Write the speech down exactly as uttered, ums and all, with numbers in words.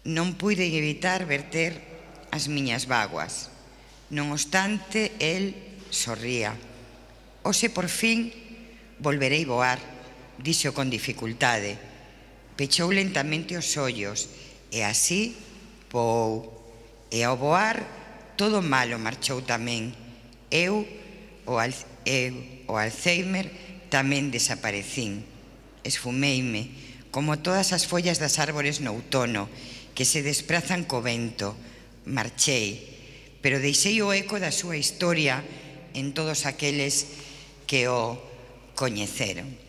Non puiden evitar verter as miñas vaguas. Non obstante, el sorría. Hoxe, por fin, volverei voar, dixo con dificultade. Pechou lentamente os ollos, e así voou. E ao voar, todo malo marchou tamén. Eu, o, al, eu, o Alzheimer, tamén desaparecín. Esfumeime, como todas as follas das árbores no outono, que se desprazan co vento. Marchei, pero deixei o eco da súa historia en todos aqueles que o coñeceron.